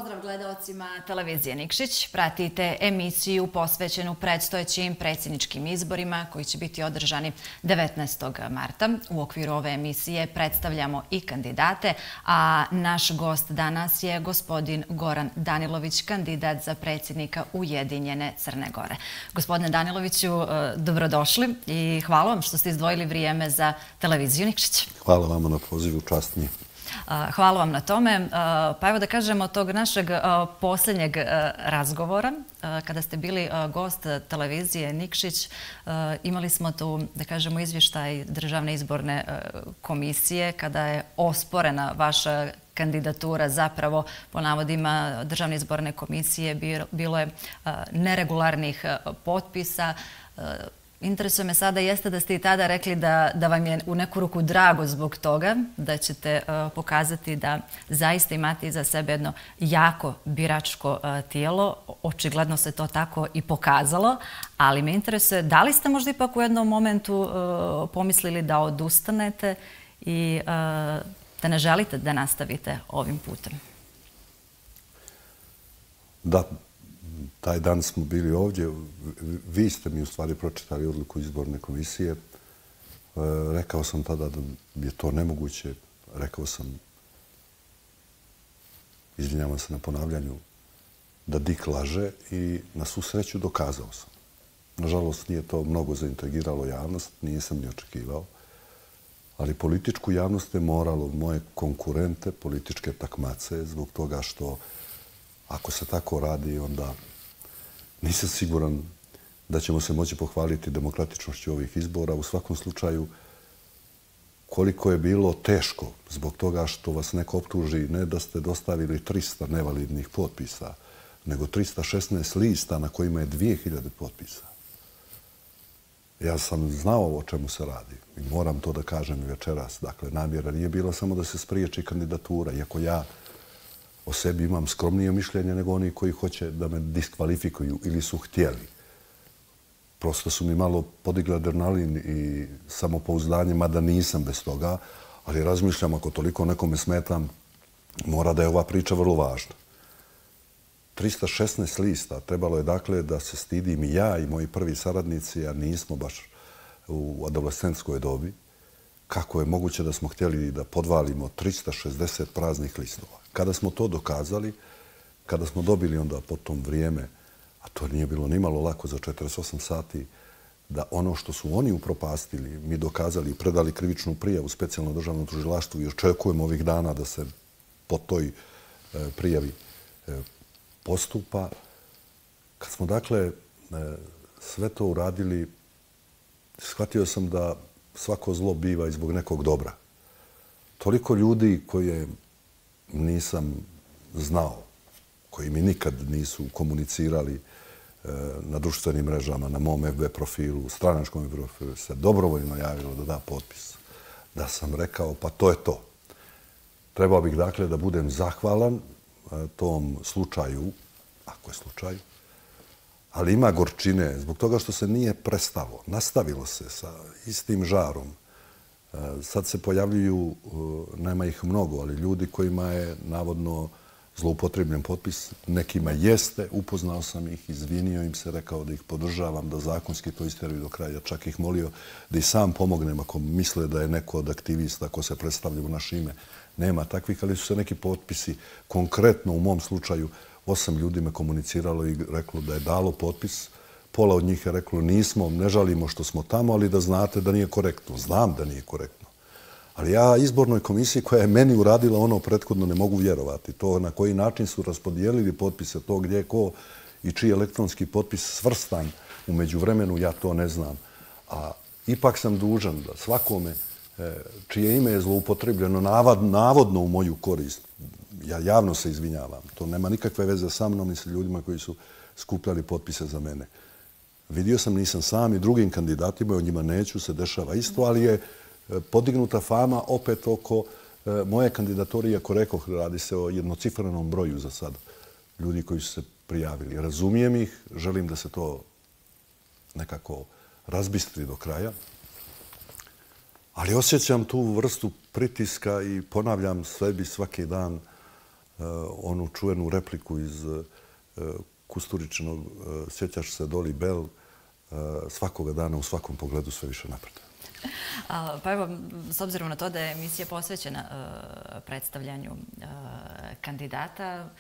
Pozdrav gledaocima televizije Nikšić. Pratite emisiju posvećenu predstojećim predsjedničkim izborima koji će biti održani 19. marta. U okviru ove emisije predstavljamo i kandidate, a naš gost danas je gospodin Goran Danilović, kandidat za predsjednika Ujedinjene Crne Gore. Gospodine Daniloviću, dobrodošli i hvala vam što ste izdvojili vrijeme za televiziju Nikšić. Hvala vama na pozivu, čast mi je. Hvala vam na tome. Pa evo da kažemo od tog našeg posljednjeg razgovora, kada ste bili gost televizije Nikšić, imali smo tu, da kažemo, izvještaj Državne izborne komisije kada je osporena vaša kandidatura. Zapravo, po navodima Državne izborne komisije, bilo je neregularnih potpisa. Interesuje me sada jeste da ste i tada rekli da vam je u neku ruku drago zbog toga, da ćete pokazati da zaista imate iza sebe jedno jako biračko tijelo. Očigledno se to tako i pokazalo, ali me interesuje da li ste možda ipak u jednom momentu pomislili da odustanete i da ne želite da nastavite ovim putem? Da. Taj dan smo bili ovdje, vi ste mi u stvari pročitali odluku izborne komisije. Rekao sam tada da je to nemoguće. Rekao sam, izvinjavam se na ponavljanju, da Dik laže i na svu sreću dokazao sam. Nažalost, nije to mnogo zaintrigiralo javnost, nisam ni očekivao. Ali političku javnost je moralo, moje konkurente, političke takmace, zbog toga što ako se tako radi, onda nisam siguran da ćemo se moći pohvaliti demokratičnošću ovih izbora. U svakom slučaju, koliko je bilo teško zbog toga što vas neko optuži ne da ste dostavili 300 nevalidnih potpisa, nego 316 lista na kojima je 2000 potpisa. Ja sam znao o čemu se radi i moram to da kažem i večeras. Dakle, namjera nije bila samo da se spriječi kandidatura, iako ja o sebi imam skromnije mišljenje nego oni koji hoće da me diskvalifikuju ili su htjeli. Prosto su mi malo podigli adrenalin i samopouzdanje, mada nisam bez toga, ali razmišljam ako toliko nekome smetam, mora da je ova priča vrlo važna. 316 lista, trebalo je dakle da se stidim i ja i moji prvi saradnici, a nismo baš u adolescentskoj dobi, kako je moguće da smo htjeli da podvalimo 360 praznih listova. Kada smo to dokazali, kada smo dobili onda potom vrijeme, a to nije bilo nimalo lako za 48 sati, da ono što su oni upropastili, mi dokazali i predali krivičnu prijavu specijalno državnom tužilaštvu i očekujemo ovih dana da se po toj prijavi postupa. Kad smo dakle sve to uradili, shvatio sam da svako zlo biva i zbog nekog dobra. Toliko ljudi koje nisam znao, koji mi nikad nisu komunicirali na društvenim mrežama, na mom FB profilu, stranačkom profilu, se dobrovoljno javilo da da potpis. Da sam rekao, pa to je to. Trebao bih dakle da budem zahvalan tom slučaju, ako je slučaj, ali ima gorčine zbog toga što se nije prestalo. Nastavilo se sa istim žarom. Sad se pojavljuju, nema ih mnogo, ali ljudi kojima je navodno zloupotrebljen potpis, nekima jeste, upoznao sam ih, izvinio im se, rekao da ih podržavam, da zakonski to istjeraju do kraja. Čak ih molio da i sam pomognem ako misle da je neko od aktivista ko se predstavlja u naše ime. Nema takvih, ali su se neki potpisi, konkretno u mom slučaju, 8 ljudi me komuniciralo i reklo da je dalo potpis. Pola od njih je reklo nismo, ne žalimo što smo tamo, ali da znate da nije korektno. Znam da nije korektno. Ali ja izbornoj komisiji koja je meni uradila ono prethodno ne mogu vjerovati. To na koji način su raspodijelili potpise, to gdje ko i čiji elektronski potpis svrstan u međuvremenu, ja to ne znam. A ipak sam dužan da svakome čije ime je zloupotrebljeno navodno u moju korist, ja javno se izvinjavam. To nema nikakve veze sa mnom i sa ljudima koji su skupljali potpise za mene. Vidio sam, nisam sam i drugim kandidatima, o njima neću, se dešava isto, ali je podignuta fama opet oko moje kandidature, iako rekoh, radi se o jednocifrenom broju za sad ljudi koji su se prijavili. Razumijem ih, želim da se to nekako razbistri do kraja, ali osjećam tu vrstu pritiska i ponavljam sebi svaki dan onu čuvenu repliku iz Kusturičinog "Sjećaš se Doli Bell", svakoga dana u svakom pogledu sve više napreduje. Pa evo, s obzirom na to da je emisija posvećena predstavljanju kandidata,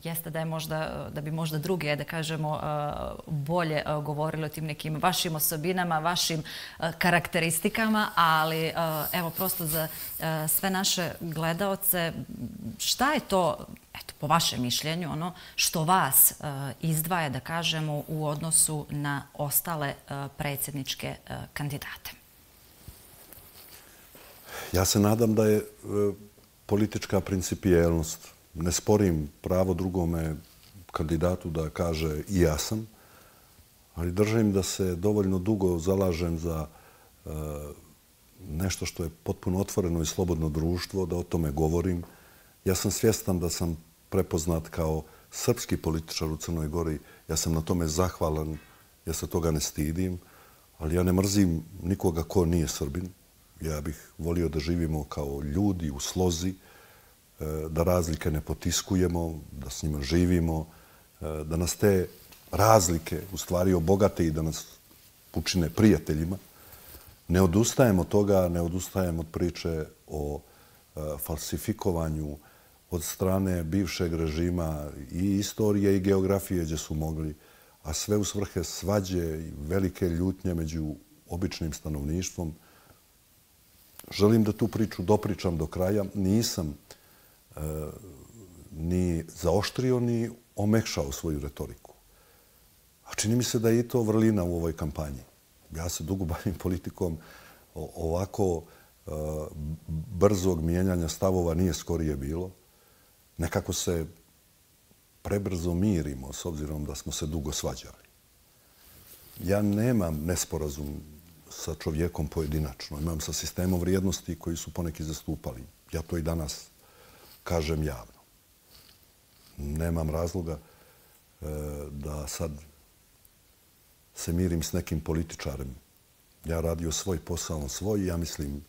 jeste da bi možda drugi, da kažemo, bolje govorili o tim nekim vašim osobinama, vašim karakteristikama, ali evo, prosto za sve naše gledaoce, šta je to, eto, po vašem mišljenju, ono što vas izdvaja, da kažemo, u odnosu na ostale predsjedničke kandidate? Ja se nadam da je politička principijelnost. Ne sporim pravo drugome kandidatu da kaže i ja sam, ali držim da se dovoljno dugo zalažem za nešto što je potpuno otvoreno i slobodno društvo, da o tome govorim. Ja sam svjestan da sam prepoznat kao srpski političar u Crnoj Gori. Ja sam na tome zahvalan, ja se toga ne stidim, ali ja ne mrzim nikoga ko nije Srbin. Ja bih volio da živimo kao ljudi u slozi, da razlike ne potiskujemo, da s njima živimo, da nas te razlike u stvari obogate i da nas učine prijateljima. Ne odustajem od toga, ne odustajem od priče o falsifikovanju od strane bivšeg režima i istorije i geografije gdje su mogli, a sve u svrhe svađe i velike ljutnje među običnim stanovništvom. Želim da tu priču dopričam do kraja. Nisam ni zaoštrio, ni omekšao svoju retoriku. A čini mi se da je i to vrlina u ovoj kampanji. Ja se dugo bavim politikom. Ovako brzog mijenjanja stavova nije skorije bilo. Nekako se prebrzo mirimo s obzirom da smo se dugo svađali. Ja nemam nesporazum sa čovjekom pojedinačno. Imam sa sistemom vrijednosti koji su poneki zastupali. Ja to i danas kažem javno. Nemam razloga da sad se mirim s nekim političarem. Ja radio svoj posao, on svoj. Ja mislim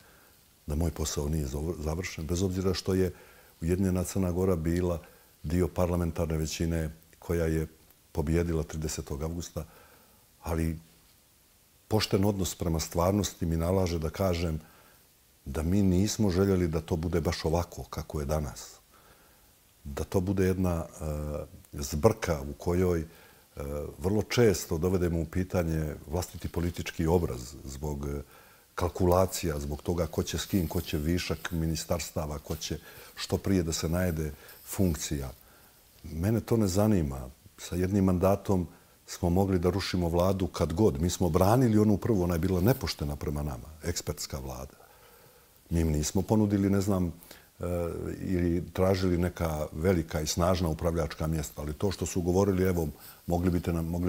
da moj posao nije završen. Bez obzira što je Ujedinjena Crna Gora bila dio parlamentarne većine koja je pobjedila 30. avgusta, ali pošten odnos prema stvarnosti mi nalaže da kažem da mi nismo željeli da to bude baš ovako kako je danas. Da to bude jedna zbrka u kojoj vrlo često dovedemo u pitanje vlastiti politički obraz zbog kalkulacija, zbog toga ko će s kim, ko će višak ministarstava, ko će što prije da se najede funkcija. Mene to ne zanima. Sa jednim mandatom smo mogli da rušimo vladu kad god. Mi smo branili onu prvu, ona je bila nepoštena prema nama, ekspertska vlada. Mi im nismo ponudili, ne znam, ili tražili neka velika i snažna upravljačka mjesta, ali to što su govorili, evo, mogli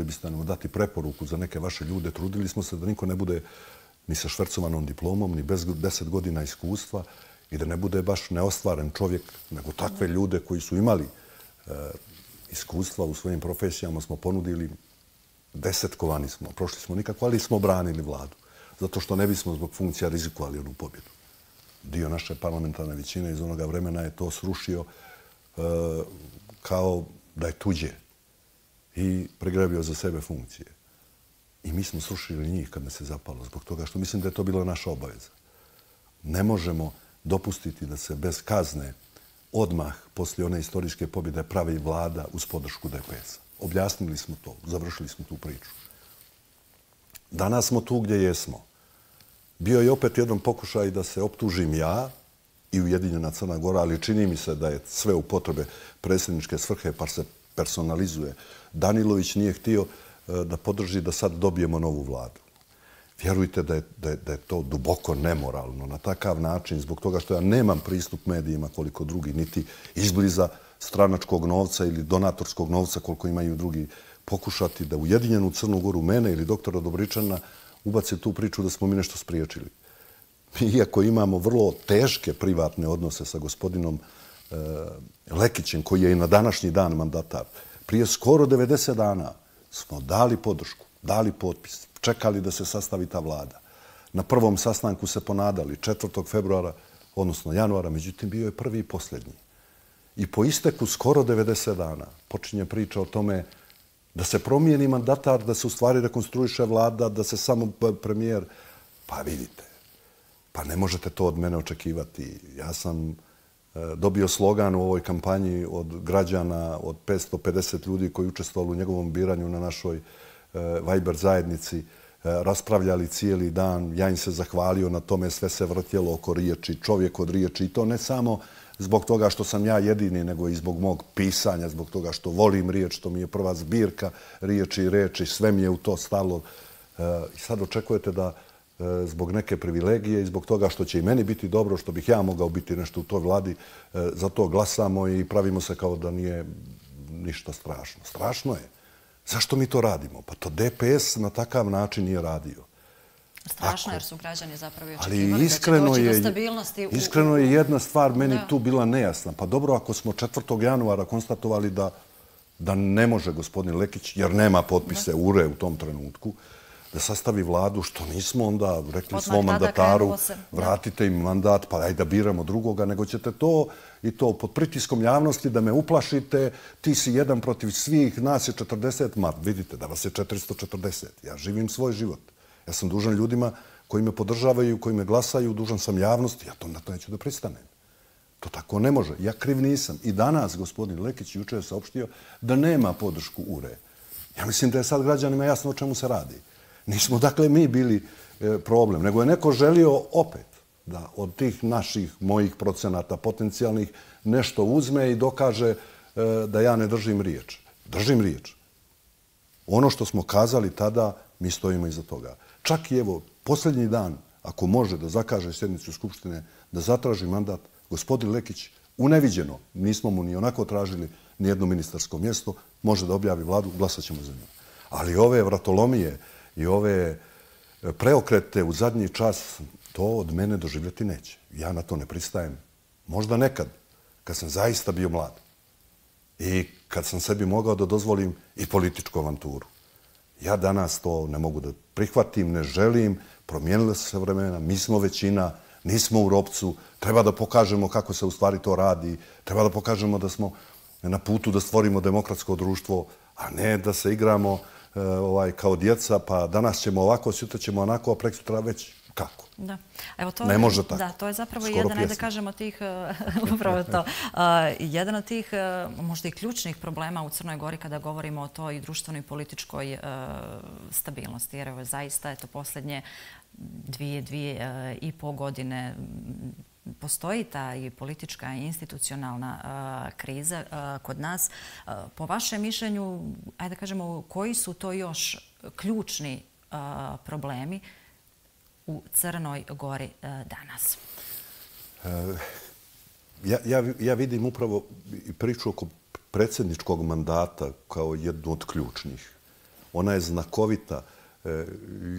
biste nam dati preporuku za neke vaše ljude, trudili smo se da niko ne bude ni sa švercovanom diplomom, ni bez 10 godina iskustva i da ne bude baš neostvaren čovjek, nego takve ljude koji su imali iskustva u svojim profesijama smo ponudili, desetkovani smo, prošli smo nikako, ali smo branili vladu. Zato što ne bismo zbog funkcija rizikovali onu pobjedu. Dio naše parlamentarne većine iz onoga vremena je to srušio kao da je tuđe i pregrabio za sebe funkcije. I mi smo srušili njih kad nas se zapalo, zbog toga što mislim da je to bila naša obaveza. Ne možemo dopustiti da se bez kazne odmah poslije one istorijske pobjede pravi vlada uz podršku DPS-a. Objasnili smo to, završili smo tu priču. Danas smo tu gdje jesmo. Bio je opet jedan pokušaj da se optužim ja i Ujedinjena Crna Gora, ali čini mi se da je sve u potrebe predsjedničke svrhe pa se personalizuje. Danilović nije htio da podrži da sad dobijemo novu vladu. Vjerujte da je to duboko nemoralno na takav način, zbog toga što ja nemam pristup medijima koliko drugi, niti izbliza stranačkog novca ili donatorskog novca koliko imaju drugi, pokušati da Ujedinjenu Crnu Goru, mene ili doktora Dobričana, ubace tu priču da smo mi nešto spriječili. Iako imamo vrlo teške privatne odnose sa gospodinom Lekićem, koji je i na današnji dan mandatar, prije skoro 90 dana smo dali podršku, dali potpis, čekali da se sastavi ta vlada. Na prvom sastanku se ponadali 4. februara, odnosno januara, međutim bio je prvi i posljednji. I po isteku skoro 90 dana počinje priča o tome da se promijeni mandatar, da se u stvari rekonstruiše vlada, da se samo premijer... Pa vidite, pa ne možete to od mene očekivati. Ja sam dobio slogan u ovoj kampanji od građana, od 550 ljudi koji učestvovali u njegovom biranju na našoj Viber zajednici, raspravljali cijeli dan. Ja im se zahvalio na tome, sve se vrtjelo oko riječi, čovjek od riječi. I to ne samo zbog toga što sam ja jedini, nego i zbog mog pisanja, zbog toga što volim riječ, što mi je prva zbirka riječi i reči, sve mi je u to stalo. I sad očekujete da zbog neke privilegije i zbog toga što će i meni biti dobro, što bih ja mogao biti nešto u toj vladi, za to glasamo i pravimo se kao da nije ništa strašno. Strašno je. Zašto mi to radimo? Pa to DPS na takav način nije radio. Strašno jer su građani zapravo i očekivali da će doći do stabilnosti. Iskreno je jedna stvar meni tu bila nejasna. Pa dobro, ako smo 4. januara konstatovali da ne može gospodin Lekić, jer nema potpise URE u tom trenutku, da sastavi vladu, što nismo onda rekli svom mandataru, vratite im mandat, pa ajde da biramo drugoga, nego ćete to i to pod pritiskom javnosti da me uplašite, ti si jedan protiv svih, nas je 40, ma vidite da vas je 440. Ja živim svoj život. Ja sam dužan ljudima koji me podržavaju, koji me glasaju, dužan sam javnosti, ja to na to neću da pristanem. To tako ne može. Ja kriv nisam. I danas gospodin Lekić juče je saopštio da nema podršku URE. Ja mislim da je sad građanima jasno o čemu se radi. Nismo dakle mi bili problem, nego je neko želio opet da od tih naših, mojih procenata potencijalnih nešto uzme i dokaže da ja ne držim riječ. Držim riječ. Ono što smo kazali tada, mi stojimo iza toga. Čak i evo, posljednji dan, ako može da zakaže sjednicu Skupštine, da zatraži mandat, gospodin Lekić uneviđeno, nismo mu ni onako tražili ni jedno ministarsko mjesto, može da objavi vladu, glasat ćemo za nju. Ali ove vratolomije i ove preokrete u zadnji čas, to od mene doživjeti neće. Ja na to ne pristajem. Možda nekad, kad sam zaista bio mlad i kad sam sebi mogao da dozvolim i političku avanturu. Ja danas to ne mogu da prihvatim, ne želim, promijenile su se vremena, mi smo većina, nismo u ropcu, treba da pokažemo kako se u stvari to radi, treba da pokažemo da smo na putu da stvorimo demokratsko društvo, a ne da se igramo kao djeca, pa danas ćemo ovako, sutra ćemo onako, a prekosutra već kako. Ne može tako. Da, to je zapravo jedan, ajde da kažemo, tih, upravo to, jedan od tih možda i ključnih problema u Crnoj Gori kada govorimo o toj društvenoj i političkoj stabilnosti. Jer evo, zaista je to posljednje 2,5 godine postoji ta i politička i institucionalna kriza kod nas. Po vašem mišljenju, ajde da kažemo, koji su to još ključni problemi u Crnoj Gori danas? Ja vidim upravo priču oko predsjedničkog mandata kao jednu od ključnih. Ona je znakovita.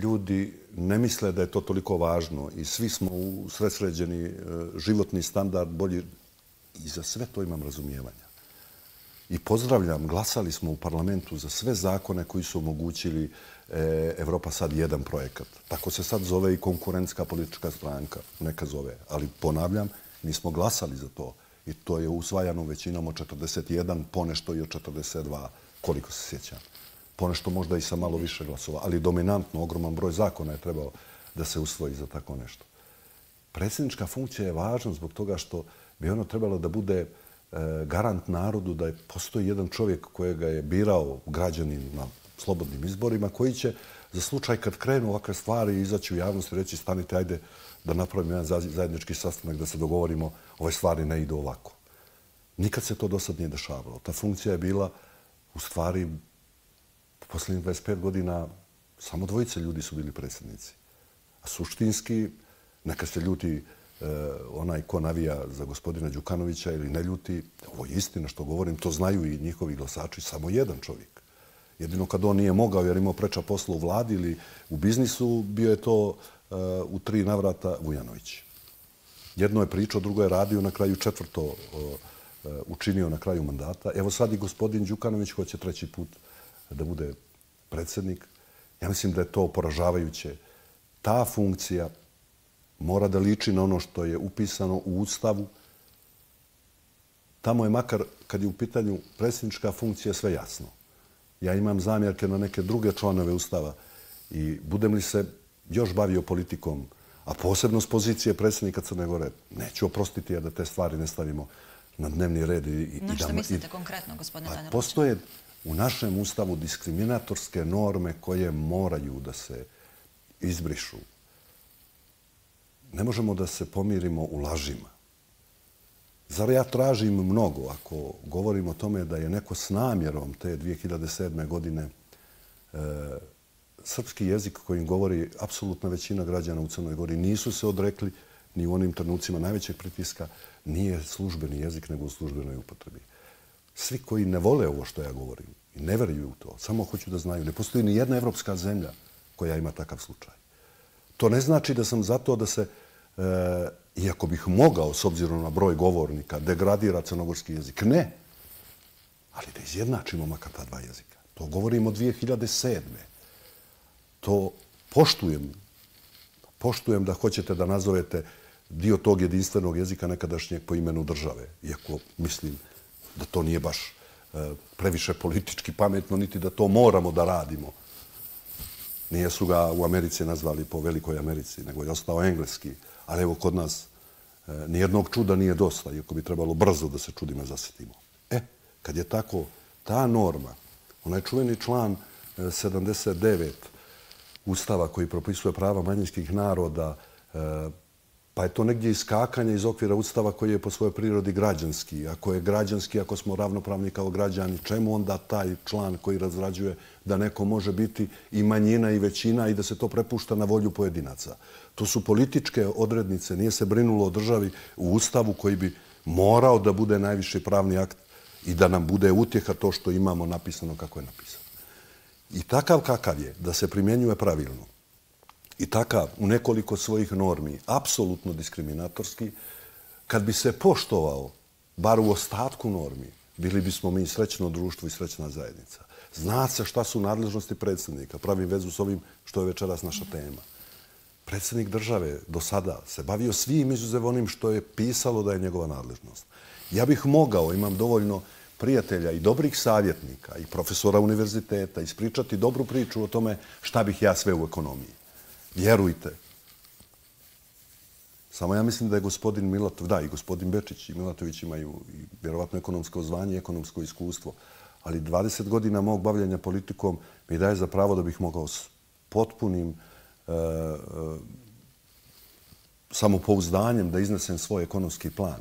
Ljudi ne misle da je to toliko važno i svi smo usredsređeni, životni standard bolji. I za sve to imam razumijevanja. I pozdravljam, glasali smo u parlamentu za sve zakone koji su omogućili Evropa sad 1 projekat. Tako se sad zove i konkurentska politička stranka, neka zove. Ali ponavljam, mi smo glasali za to i to je usvajano većinom od 41, ponešto i od 42, koliko se sjećam. Ponešto možda i sa malo više glasova, ali dominantno, ogroman broj zakona je trebao da se usvoji za tako nešto. Predsjednička funkcija je važna zbog toga što bi ono trebalo da bude garant narodu da postoji jedan čovjek kojega je birao građanin na slobodnim izborima, koji će za slučaj kad krenu ovakve stvari izaći u javnost i reći stanite, ajde da napravimo jedan zajednički sastanak, da se dogovorimo, ove stvari ne idu ovako. Nikad se to do sad nije dešavalo. Ta funkcija je bila u stvari posljednjih 25 godina samo 2 ljudi su bili predsjednici. A suštinski, neka se ljuti onaj ko navija za gospodina Đukanovića ili ne ljuti, ovo je istina što govorim, to znaju i njihovi glasači, samo jedan čovjek. Jedino kad on nije mogao jer imao preča posla u vladi ili u biznisu, bio je to u 3 navrata Vujanović. Jedno je pričao, drugo je radio, na kraju 4. učinio na kraju mandata. Evo sad i gospodin Đukanović hoće 3. put da bude predsjednik. Ja mislim da je to poražavajuće. Ta funkcija mora da liči na ono što je upisano u Ustavu. Tamo je makar, kad je u pitanju predsjednička funkcija, sve jasno. Ja imam zamjerke na neke druge članove Ustava i budem li se još bavio politikom, a posebno s pozicije predsjednika Crne Gore, neću oprostiti jer da te stvari ne stavimo na dnevni red. Na što mislite konkretno, gospodine Banja Luka? Postoje u našem Ustavu diskriminatorske norme koje moraju da se izbrišu. Ne možemo da se pomirimo u lažima. Zar ja tražim mnogo ako govorim o tome da je neko s namjerom te 2007. godine srpski jezik kojim govori apsolutna većina građana u Crnoj Gori nisu se odrekli ni u onim trenucima najvećeg pritiska, nije službeni jezik nego u službenoj upotrebi. Svi koji ne vole ovo što ja govorim i ne veruju u to, samo hoću da znaju, ne postoji ni jedna evropska zemlja koja ima takav slučaj. To ne znači da sam zato da se, iako bih mogao, s obzirom na broj govornika, degradira crnogorski jezik. Ne. Ali da izjednačimo makar ta dva jezika. To govorimo od 2007. To poštujem. Poštujem da hoćete da nazovete dio tog jedinstvenog jezika nekadašnjeg po imenu države. Iako mislim da to nije baš previše politički pametno, niti da to moramo da radimo. Nije su ga u Americi nazvali po Velikoj Americi, nego je ostao engleski. Ali evo kod nas nijednog čuda nije dosta, iako bi trebalo brzo da se čudima zasjetimo. Kad je tako, ta norma, onaj čuveni član 79 Ustava koji propisuje prava manjinskih naroda, pa je to negdje iskakanje iz okvira Ustava koji je po svojoj prirodi građanski. Ako je građanski, ako smo ravnopravni kao građani, čemu onda taj član koji razrađuje da neko može biti i manjina i većina i da se to prepušta na volju pojedinaca? To su političke odrednice, nije se brinulo o državi u Ustavu koji bi morao da bude najviši pravni akt i da nam bude utjeha to što imamo napisano kako je napisano. I takav kakav je, da se primjenjuje pravilno, i takav u nekoliko svojih normi, apsolutno diskriminatorski, kad bi se poštovao, bar u ostatku normi, bili bismo mi srećno društvo i srećna zajednica. Zna se šta su nadležnosti predsjednika. Pravim vezu s ovim što je večeras naša tema. Predsjednik države do sada se bavio svim izuzev onim što je pisalo da je njegova nadležnost. Ja bih mogao, imam dovoljno prijatelja i dobrih savjetnika i profesora univerziteta, ispričati dobru priču o tome šta bih ja sve u ekonomiji. Vjerujte. Samo ja mislim da je gospodin Milatov, da, i gospodin Bečić i Milatović imaju vjerovatno ekonomsko zvanje i ekonomsko iskustvo, ali 20 godina mog bavljanja politikom mi daje za pravo da bih mogao s potpunim samopouzdanjem da iznesem svoj ekonomski plan.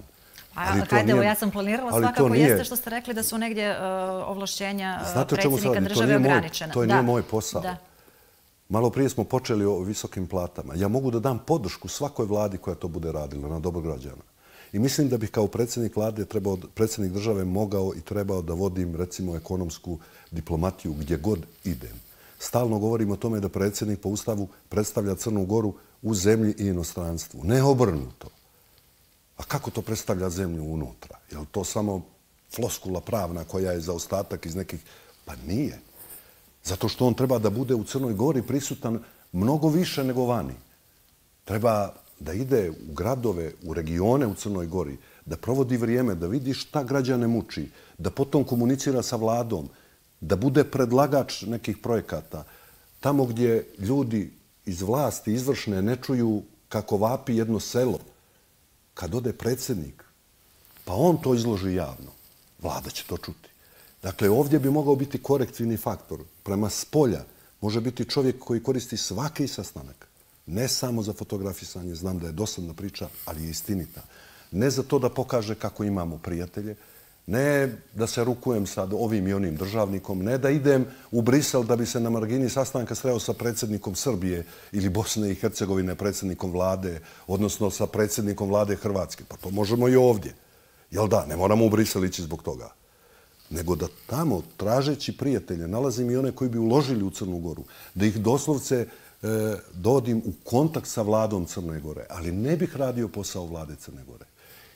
Evo, ja sam planirala svakako jeste što ste rekli da su negdje ovlašćenja predsjednika države ograničena. To nije moj posao. Malo prije smo počeli o visokim platama. Ja mogu da dam podršku svakoj vladi koja to bude radila na dobro građana. I mislim da bih kao predsjednik vlade, predsjednik države mogao i trebao da vodim, recimo, ekonomsku diplomatiju gdje god idem. Stalno govorim o tome da predsjednik po Ustavu predstavlja Crnu Goru u zemlji i inostranstvu. Ne obrnuto. A kako to predstavlja zemlju unutra? Je li to samo floskula pravna koja je za ostatak iz nekih... Pa nije. Zato što on treba da bude u Crnoj Gori prisutan mnogo više nego vani. Treba da ide u gradove, u regione u Crnoj Gori, da provodi vrijeme, da vidi šta građane muči, da potom komunicira sa vladom, da bude predlagač nekih projekata. Tamo gdje ljudi iz vlasti izvršne ne čuju kako vapi jedno selo, kad ode predsjednik, pa on to izloži javno, vlada će to čuti. Dakle, ovdje bi mogao biti korektivni faktor. Prema spolja može biti čovjek koji koristi svaki sastanak. Ne samo za fotografisanje, znam da je dosadna priča, ali je istinita. Ne za to da pokaže kako imamo prijatelje, ne da se rukujem sa ovim i onim državnikom, ne da idem u Brisel da bi se na margini sastanka sreo sa predsjednikom Srbije ili Bosne i Hercegovine, predsjednikom vlade, odnosno sa predsjednikom vlade Hrvatske. Pa to možemo i ovdje. Jel da, ne moramo u Brisel ići zbog toga. Nego da tamo, tražeći prijatelje, nalazim i one koji bi uložili u Crnu Goru, da ih doslovce dovodim u kontakt sa vladom Crne Gore, ali ne bih radio posao vlade Crne Gore.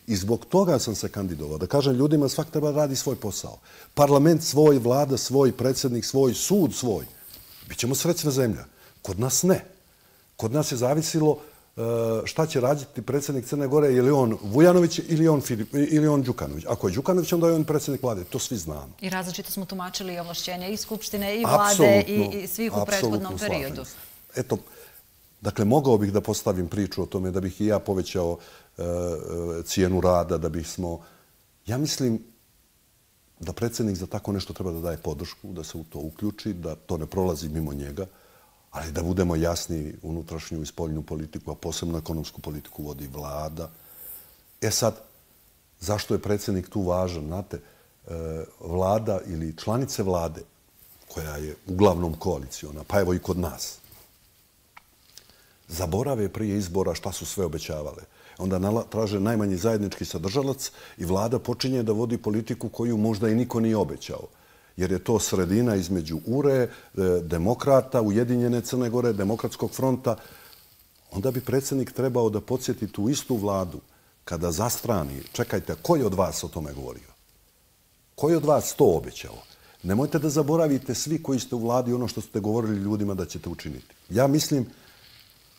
I zbog toga sam se kandidovao. Da kažem ljudima, svak treba radi svoj posao. Parlament svoj, vlada svoj, predsjednik svoj, sud svoj. Bićemo srećna zemlja. Kod nas ne. Kod nas je zavisilo šta će raditi predsjednik Crne Gore, je li on Vujanović ili on Đukanović. Ako je Đukanović, onda je on predsjednik vlade. To svi znamo. I različito smo tumačili i ovlašćenja i Skupštine i vlade i svih u prethodnom periodu. Eto, dakle, mogao bih da postavim priču o tome, da bih i ja povećao cijenu rada, da bismo... Ja mislim da predsjednik za tako nešto treba da daje podršku, da se u to uključi, da to ne prolazi mimo njega, ali da budemo jasni, unutrašnju i spoljnu politiku, a posebno ekonomsku politiku vodi vlada. Sad, zašto je predsjednik tu važan? Znate, vlada ili članice vlade, koja je uglavnom koaliciona, pa evo i kod nas, zaborave prije izbora šta su sve obećavale. Onda traže najmanji zajednički sadržalac i vlada počinje da vodi politiku koju možda i niko nije obećao. Jer je to sredina između URE, demokrata, Ujedinjene Crne Gore, Demokratskog fronta. Onda bi predsjednik trebao da podsjeti tu istu vladu kada zastrani. Čekajte, ko je od vas o tome govorio? Ko je od vas to obećao? Nemojte da zaboravite svi koji ste u vladi ono što ste govorili ljudima da ćete učiniti. Ja mislim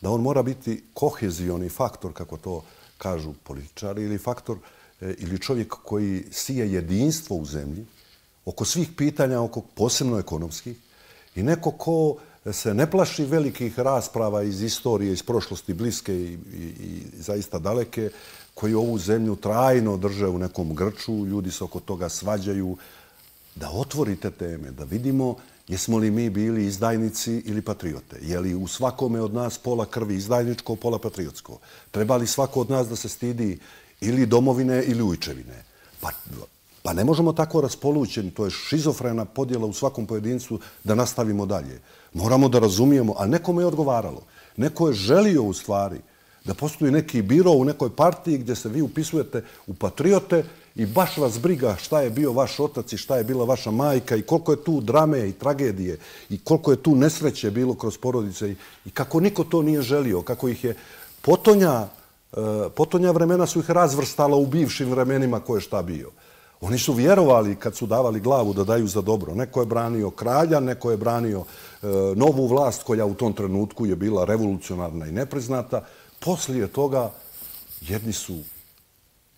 da on mora biti kohezioni faktor, kako to kažu političari, ili faktor, ili čovjek koji sije jedinstvo u zemlji oko svih pitanja, oko posebno ekonomskih, i neko ko se ne plaši velikih rasprava iz istorije, iz prošlosti bliske i zaista daleke, koji ovu zemlju trajno drže u nekom grču, ljudi se oko toga svađaju, da otvorite teme, da vidimo jesmo li mi bili izdajnici ili patriote. Je li u svakome od nas pola krvi izdajničko, pola patriotsko? Treba li svako od nas da se stidi ili domovine ili ujčevine? Pa ne možemo tako raspolućeni, to je šizofrena podjela u svakom pojedincu, da nastavimo dalje. Moramo da razumijemo, a nekome je odgovaralo. Neko je želio u stvari da postoji neki biro u nekoj partiji gdje se vi upisujete u patriote i baš vas briga šta je bio vaš otac i šta je bila vaša majka i koliko je tu drame i tragedije i koliko je tu nesreće bilo kroz porodice i kako niko to nije želio, kako ih je potonja vremena su ih razvrstala u bivšim vremenima ko je šta bio. Oni su vjerovali kad su davali glavu da daju za dobro. Neko je branio kralja, neko je branio novu vlast koja u tom trenutku je bila revolucionarna i nepriznata. Poslije toga jedni su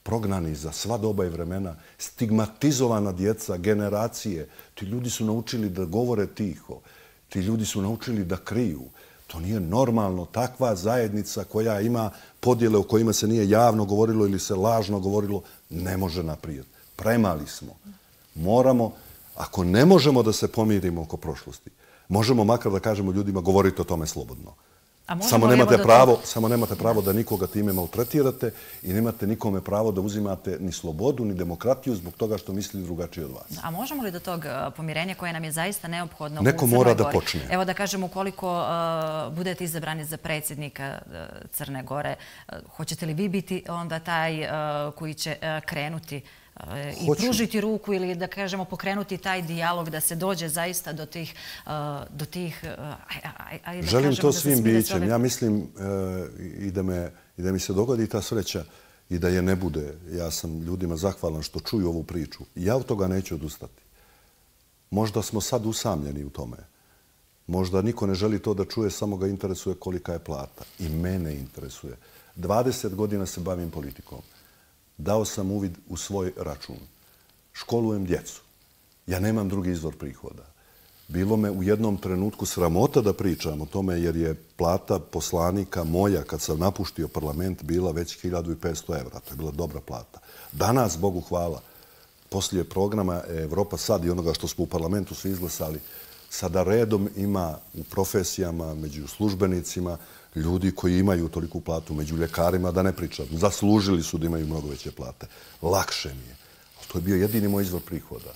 prognani za sva doba i vremena, stigmatizovana djeca, generacije. Ti ljudi su naučili da govore tiho. Ti ljudi su naučili da kriju. To nije normalno. Takva zajednica koja ima podjele o kojima se nije javno govorilo ili se lažno govorilo, ne može naprijed. Premali smo. Moramo, ako ne možemo da se pomirimo oko prošlosti, možemo makar da kažemo ljudima govorite o tome slobodno. Samo nemate pravo da nikoga time maltretirate i nemate nikome pravo da uzimate ni slobodu, ni demokratiju zbog toga što misli drugačije od vas. A možemo li do tog pomirenja koje nam je zaista neophodno u Neko Crnoj mora Gori? Da počne. Evo da kažem, ukoliko budete izabrani za predsjednika Crne Gore, hoćete li vi biti onda taj koji će krenuti i pružiti ruku ili, da kažemo, pokrenuti taj dijalog da se dođe zaista do tih... Želim to svim bićem. Ja mislim i da mi se dogodi ta sreća i da je ne bude. Ja sam ljudima zahvalan što čuju ovu priču. Ja od toga neću odustati. Možda smo sad usamljeni u tome. Možda niko ne želi to da čuje, samo ga interesuje kolika je plata. I mene interesuje. 20 godina se bavim politikom. Dao sam uvid u svoj račun. Školujem djecu. Ja nemam drugi izvor prihoda. Bilo me u jednom trenutku sramota da pričam o tome jer je plata poslanika moja kad sam napuštio parlament bila već 1500 evra. To je bila dobra plata. Danas, Bogu hvala, poslije programa Evropa sad i onoga što smo u parlamentu svi izglasali, sada redom ima u profesijama, među službenicima, ljudi koji imaju toliku platu, među ljekarima, da ne pričam. Zaslužili su da imaju mnogo veće plate. Lakše mi je. To je bio jedini moj izvor prihoda.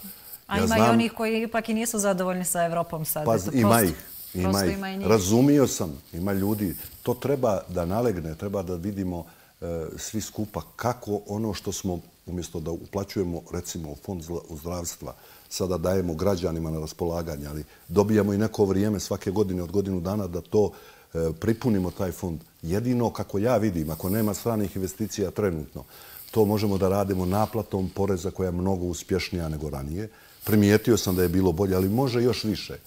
A ima i onih koji ipak i nisu zadovoljni sa Evropom sad. Pa ima ih. Razumio sam. Ima ljudi. To treba da nalegne, treba da vidimo svi skupa kako ono što smo, umjesto da uplaćujemo, recimo, u fond zdravstva, sada dajemo građanima na raspolaganje, ali dobijamo i neko vrijeme svake godine od godinu dana da to pripunimo taj fond. Jedino, kako ja vidim, ako nema stranih investicija trenutno, to možemo da radimo naplatom poreza koja je mnogo uspješnija nego ranije. Primijetio sam da je bilo bolje, ali može još više.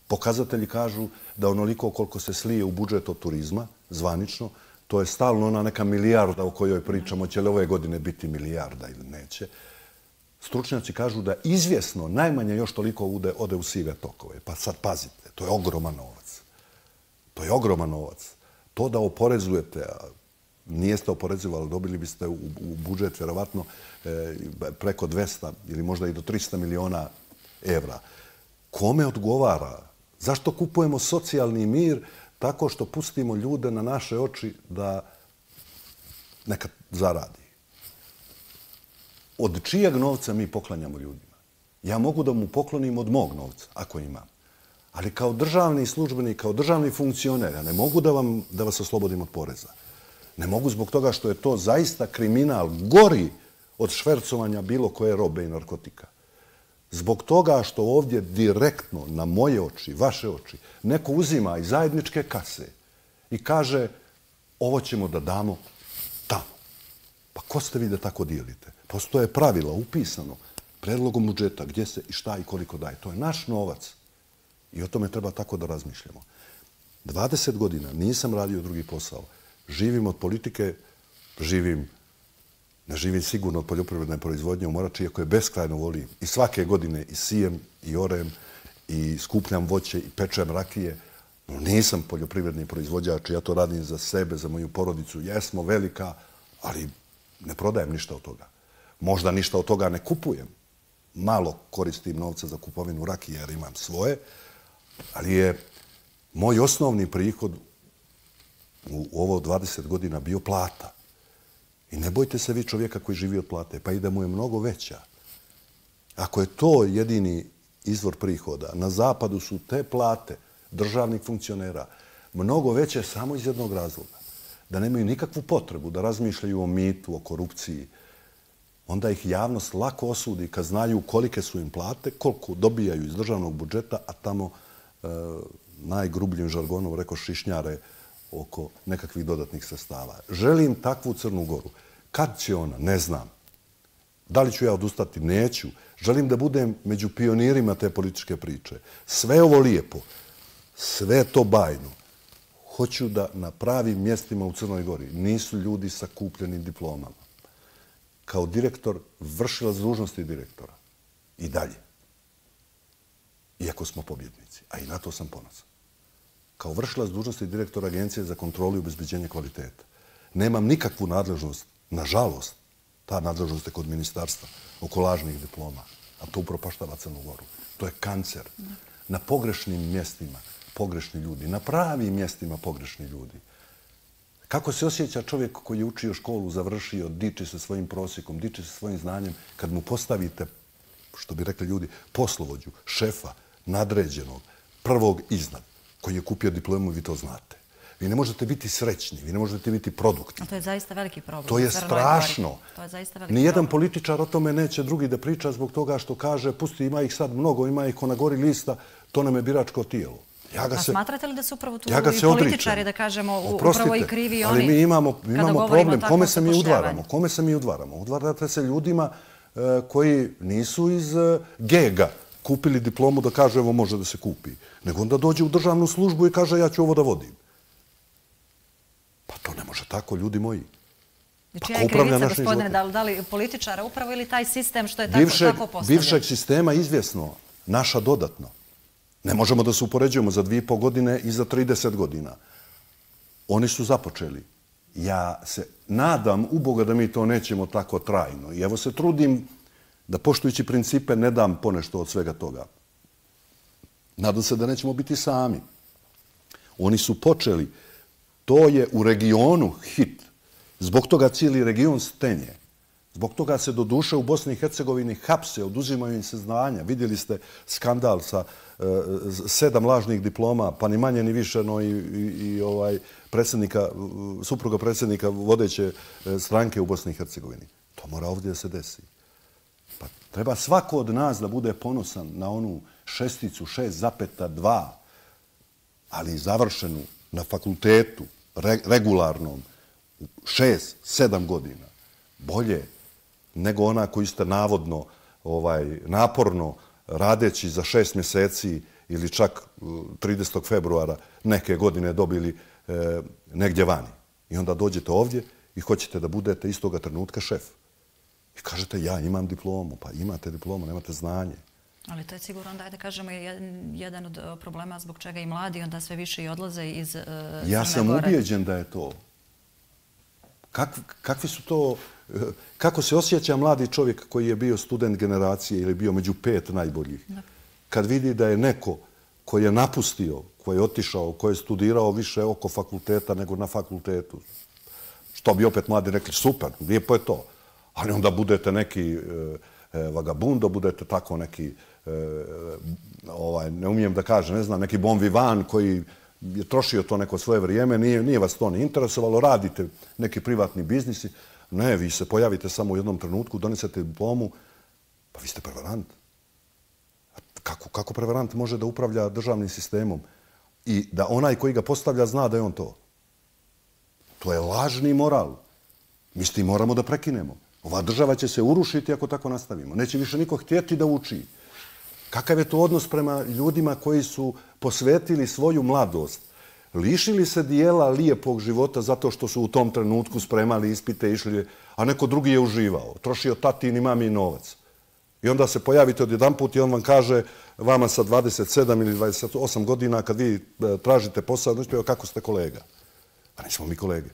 Pokazatelji kažu da onoliko koliko se slije u budžet od turizma, zvanično, to je stalno ona neka milijarda o kojoj pričamo, će li ove godine biti milijarda ili neće. Stručnjaci kažu da izvjesno najmanje još toliko ode u sive tokove. Pa sad pazite, to je ogroman novac. To je ogroman novac. To da oporezujete, nijeste oporezivali, dobili biste u budžet vjerovatno preko 200 ili možda i do 300 miliona evra. Kome odgovara? Zašto kupujemo socijalni mir tako što pustimo ljude na naše oči da nekad zaradi? Od čijeg novca mi poklanjamo ljudima? Ja mogu da mu poklonim od mog novca, ako imam. Ali kao državni službenik, kao državni funkcioner, ja ne mogu da vas oslobodim od poreza. Ne mogu zbog toga što je to zaista kriminal gori od švercovanja bilo koje robe i narkotika. Zbog toga što ovdje direktno na moje oči, vaše oči, neko uzima iz zajedničke kase i kaže ovo ćemo da damo tamo. Pa ko ste vi da tako dijelite? Postoje pravila upisano predlogom budžeta gdje se i šta i koliko daje. To je naš novac. I o tome treba tako da razmišljamo. 20 godina nisam radio drugi posao. Živim od politike, ne živim sigurno od poljoprivredne proizvodnje u Morači, iako je beskrajno volim. I svake godine i sijem, i orem, i skupljam voće, i pečem rakije. No, nisam poljoprivredni proizvođač, ja to radim za sebe, za moju porodicu. Jesmo velika, ali ne prodajem ništa od toga. Možda ništa od toga ne kupujem. Malo koristim novca za kupovinu rakije jer imam svoje, ali je moj osnovni prihod u ovo 20 godina bio plata. I ne bojte se vi čovjeka koji živi od plate, pa i da mu je mnogo veća. Ako je to jedini izvor prihoda, na zapadu su te plate državnih funkcionera mnogo veće samo iz jednog razloga. Da nemaju nikakvu potrebu da razmišljaju o mitu, o korupciji. Onda ih javnost lako osudi kad znaju kolike su im plate, koliko dobijaju iz državnog budžeta, a tamo najgrubljim žargonom reko šišnjare oko nekakvih dodatnih sredstava. Želim takvu Crnu Goru. Kad će ona? Ne znam. Da li ću ja odustati? Neću. Želim da budem među pionirima te političke priče. Sve ovo lijepo, sve to bajno. Hoću da na pravim mjestima u Crnoj Gori nisu ljudi sa kupljenim diplomama. Kao direktor, vršilac dužnosti direktora. I dalje. Iako smo pobjednici. A i na to sam ponosan. Kao vršilac dužnosti direktora Agencije za kontrolu i obezbeđenje kvaliteta. Nemam nikakvu nadležnost, nažalost, ta nadležnost je kod ministarstva, oko lažnih diploma, a to upropaštava Crnu Goru. To je kancer. Na pogrešnim mjestima pogrešni ljudi, na pravim mjestima pogrešni ljudi. Kako se osjeća čovjek koji je učio školu, završio, diči se svojim prosjekom, diči se svojim znanjem, kad mu postavite, što bi rekli ljudi, poslovođu, šefa, nadređenog, prvog iznad, koji je kupio diplomu, vi to znate. Vi ne možete biti srećni, vi ne možete biti produktivni. A to je zaista veliki problem. To je strašno. To je zaista veliki Nijedan političar o tome neće drugi da priča zbog toga što kaže, pusti, ima ih sad mnogo, ima ih ko na gori lista, to nam je biračko tijelo. A smatrate li da su upravo tu i političari, da kažemo, upravo i krivi i oni? Ali mi imamo problem. Kome se mi udvaramo? Kome se mi udvaramo? Udvarate se ljudima koji nisu iz gega kupili diplomu da kaže evo može da se kupi. Nego onda dođe u državnu službu i kaže ja ću ovo da vodim. Pa to ne može tako, ljudi moji. Čija je krivica, gospodine, da li političara upravo ili taj sistem što je tako postavljen? Bivšeg sistema izvjesno, naša dodatno. Ne možemo da se upoređujemo za 2,5 godine i za 30 godina. Oni su započeli. Ja se nadam u Boga da mi to nećemo tako trajno. I evo se trudim da poštujući principe ne dam ponešto od svega toga. Nadam se da nećemo biti sami. Oni su počeli. To je u regionu hit. Zbog toga cijeli region stenje. Zbog toga se do duše u Bosni i Hercegovini hapse, oduzimaju im se znanja. Vidjeli ste skandal sa 7 lažnih diploma, pa ni manje ni više, no i supruga predsjednika vodeće stranke u Bosni i Hercegovini. To mora ovdje da se desi. Pa treba svako od nas da bude ponosan na onu šesticu, 6,2, ali završenu na fakultetu, regularnom, 6-7 godina. Bolje nego ona koju ste navodno, naporno radeći za 6 mjeseci ili čak 30. februara neke godine dobili negdje vani. I onda dođete ovdje i hoćete da budete istoga trenutka šef. I kažete, ja imam diplomu. Pa imate diplomu, nemate znanje. Ali to je sigurno, da kažemo, jedan od problema zbog čega i mladi onda sve više i odlaze iz Crne Gore. Ja sam ubijeđen da je to. Kakvi su to... Kako se osjeća mladi čovjek koji je bio student generacije ili bio među 5 najboljih? Kad vidi da je neko koji je napustio, koji je otišao, koji je studirao više oko fakulteta nego na fakultetu. Što bi opet mladi rekli, super, lijepo je to. Ali onda budete neki vagabundo, budete tako neki, ne umijem da kažem, ne znam, neki bon vivant koji je trošio to neko svoje vrijeme, nije vas to ni interesovalo, radite neki privatni biznisi. Ne, vi se pojavite samo u jednom trenutku, donesete diplomu, pa vi ste prevarant. Kako prevarant može da upravlja državnim sistemom i da onaj koji ga postavlja zna da je on to? To je lažni moral. Mi s tim moramo da prekinemo. Ova država će se urušiti ako tako nastavimo. Neće više niko htjeti da uči. Kakav je to odnos prema ljudima koji su posvetili svoju mladost? Lišili se dijela lijepog života zato što su u tom trenutku spremali ispite, išli, a neko drugi je uživao. Trošio tatin i mami novac. I onda se pojavite odjedanput i on vam kaže, vama sa 27 ili 28 godina, kad vi tražite posao, kako ste kolega? Pa nismo mi kolege.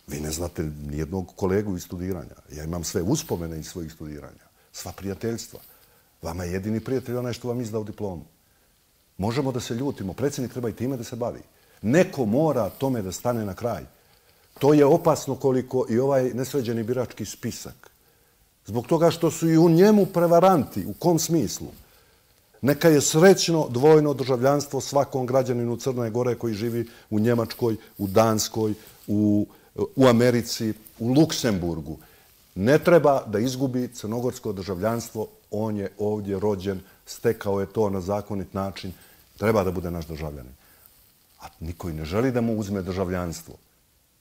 Vi ne znate nijednog kolegu iz studiranja. Ja imam sve uspomene iz svojih studiranja. Sva prijateljstva. Vama je jedini prijatelj onaj što vam izdao diplomu. Možemo da se ljutimo. Predsjednik treba i time da se bavi. Neko mora tome da stane na kraj. To je opasno koliko i ovaj nesređeni birački spisak. Zbog toga što su i u njemu prevaranti. U kom smislu? Neka je srećno dvojno državljanstvo svakom građaninu Crne Gore koji živi u Njemačkoj, u Danskoj, u Americi, u Luksemburgu. Ne treba da izgubi crnogorsko državljanstvo. On je ovdje rođen, stekao je to na zakonit način. Treba da bude naš državljanin. A niko i ne želi da mu uzme državljanstvo,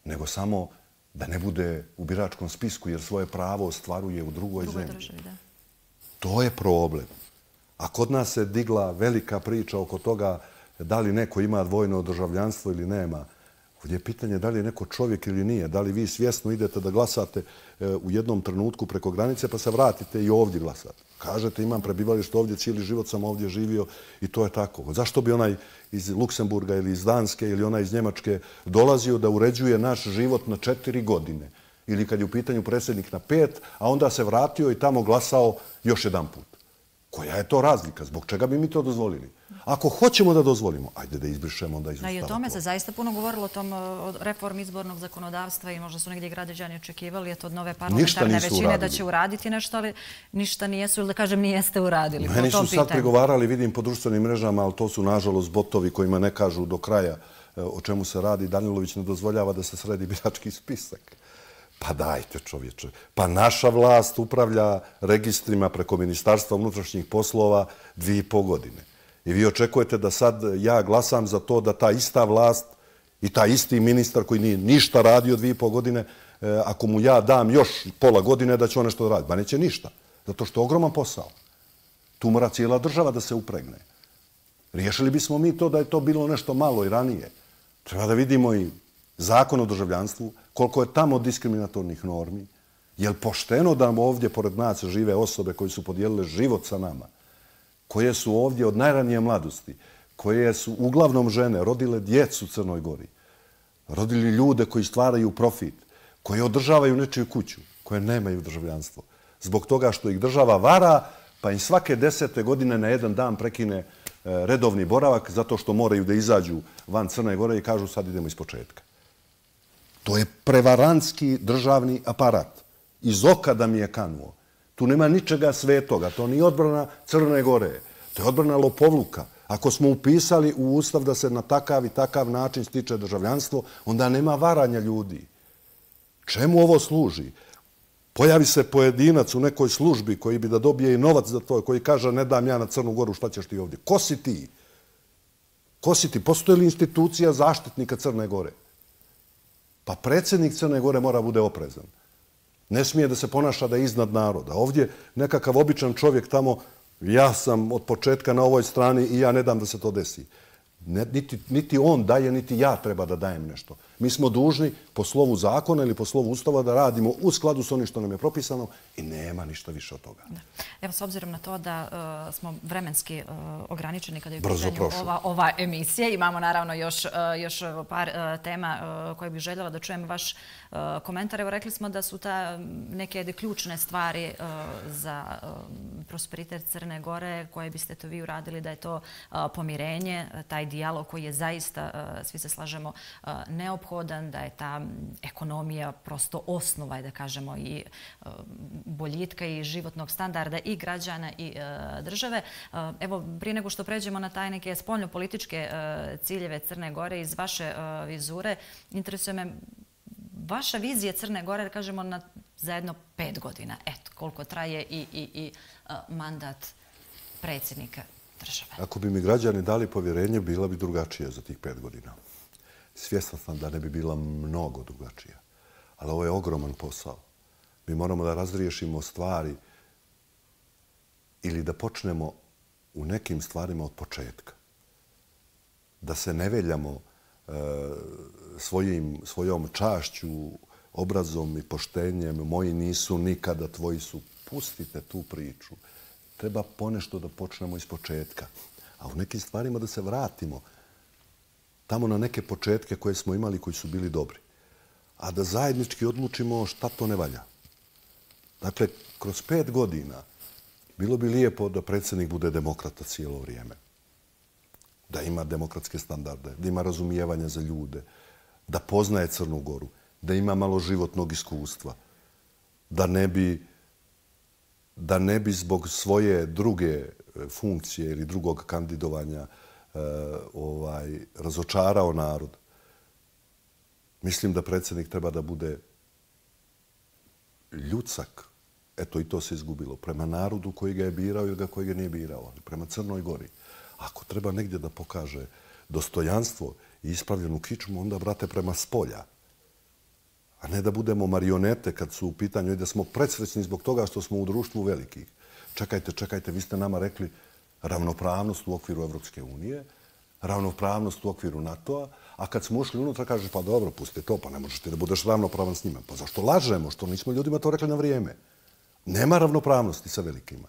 nego samo da ne bude u biračkom spisku jer svoje pravo ostvaruje u drugoj zemlji. To je problem. A kod nas se digla velika priča oko toga da li neko ima dvojno državljanstvo ili nema. Ovdje je pitanje da li je neko čovjek ili nije. Da li vi svjesno idete da glasate u jednom trenutku preko granice pa se vratite i ovdje glasate. Kažete imam prebivalište ovdje, cijeli život sam ovdje živio i to je tako. Zašto bi onaj iz Luksemburga ili iz Danske ili onaj iz Njemačke dolazio da uređuje naš život na 4 godine? Ili kad je u pitanju predsjednik na 5, a onda se vratio i tamo glasao još jedan put. Koja je to razlika? Zbog čega bi mi to dozvolili? Ako hoćemo da dozvolimo, ajde da izbrišemo onda iz Ustava. I o tome se zaista puno govorilo, o reformi izbornog zakonodavstva i možda su negdje građani očekivali od nove parlamentarne većine da će uraditi nešto, ali ništa nijesu ili da kažem nijeste uradili. Meni su sad pregovarali, vidim po društvenim mrežama, ali to su nažalost botovi kojima ne kažu do kraja o čemu se radi. Danilović ne dozvoljava da se sredi birački spisak. Pa dajte čovječe. Pa naša vlast upravlja registrima preko Ministarstva unutrašnjih poslova 2,5 godine. I vi očekujete da sad ja glasam za to da ta ista vlast i taj isti ministar koji nije ništa radio 2,5 godine, ako mu ja dam još pola godine da će on nešto raditi. Ba neće ništa. Zato što je ogroman posao. Tu mora cijela država da se upregne. Riješili bismo mi to da je to bilo nešto malo i ranije. Treba da vidimo i zakon o državljanstvu, koliko je tamo diskriminatornih normi. Je li pošteno da ovdje pored nas žive osobe koji su podijelile život sa nama, koje su ovdje od najranije mladosti, koje su uglavnom žene, rodile djecu u Crnoj Gori, rodili ljude koji stvaraju profit, koji održavaju nečiju kuću, koje nemaju državljanstvo. Zbog toga što ih država vara, pa im svake 10. godine na jedan dan prekine redovni boravak zato što moraju da izađu van Crne Gore i kažu sad idemo iz početka. To je prevarantski državni aparat. Iz oka da mi je kanuo. Tu nema ničega svetoga. To nije odbrana Crne Gore. To je odbrana lopovluka. Ako smo upisali u Ustav da se na takav i takav način stiče državljanstvo, onda nema varanja ljudi. Čemu ovo služi? Pojavi se pojedinac u nekoj službi koji bi da dobije i novac za to, koji kaže ne dam ja na Crnu Goru, šta ćeš ti ovdje? Ko si ti? Ko si ti? Postoji li institucija zaštitnika Crne Gore? Pa predsjednik Crne Gore mora bude oprezan. Ne smije da se ponaša da je iznad naroda. Ovdje nekakav običan čovjek tamo, ja sam od početka na ovoj strani i ja ne dam da se to desi. Niti on daje, niti ja treba da dajem nešto. Mi smo dužni po slovu zakona ili po slovu ustava da radimo u skladu s onim što nam je propisano i nema ništa više od toga. Evo, s obzirom na to da smo vremenski ograničeni kada je u pitanju ova emisija, imamo naravno još par tema koje bih željela da čujem vaš komentar. Evo, rekli smo da su ta neke ključne stvari za prosperitet Crne Gore koje biste to vi uradili, da je to pomirenje, taj dijalog koji je zaista, svi se slažemo, neophodan, da je ta ekonomija prosto osnova, da kažemo, i boljitka i životnog standarda i građana i države. Evo, prije nego što pređemo na taj neke spoljnopolitičke ciljeve Crne Gore iz vaše vizure, interesuje me vaša vizija Crne Gore, da kažemo, za jedno 5 godina. Eto, koliko traje i mandat predsjednika države. Ako bi mi građani dali povjerenje, bila bi drugačija za tih 5 godina. Svjestan sam da ne bi bila mnogo drugačija. Ali ovo je ogroman posao. Mi moramo da razriješimo stvari ili da počnemo u nekim stvarima od početka. Da se ne veljamo svojom čašću, obrazom i poštenjem. Moji nisu nikada, tvoji su. Pustite tu priču. Treba ponešto da počnemo iz početka. A u nekim stvarima da se vratimo tamo na neke početke koje smo imali, koji su bili dobri. A da zajednički odlučimo šta to ne valja. Dakle, kroz 5 godina bilo bi lijepo da predsjednik bude demokrata cijelo vrijeme. Da ima demokratske standarde, da ima razumijevanja za ljude, da poznaje Crnu Goru, da ima malo životnog iskustva, da ne bi zbog svoje druge funkcije ili drugog kandidovanja razočarao narod. Mislim da predsjednik treba da bude ljudsak. Eto, i to se izgubilo. Prema narodu koji ga je birao ili koji ga nije birao. Ali prema Crnoj Gori. Ako treba negdje da pokaže dostojanstvo i ispravljenu kičmu, onda, brate, prema spolja. A ne da budemo marionete kad su u pitanju i da smo predsrećni zbog toga što smo u društvu velikih. Čekajte, vi ste nama rekli ravnopravnost u okviru Evropske unije, ravnopravnost u okviru NATO-a, a kad smo ušli unutra, kaže, pa dobro, pusti to, pa ne možeš ti da budeš ravnopravan s njima. Pa zašto lažemo? Što nismo ljudima to rekli na vrijeme? Nema ravnopravnosti sa velikima.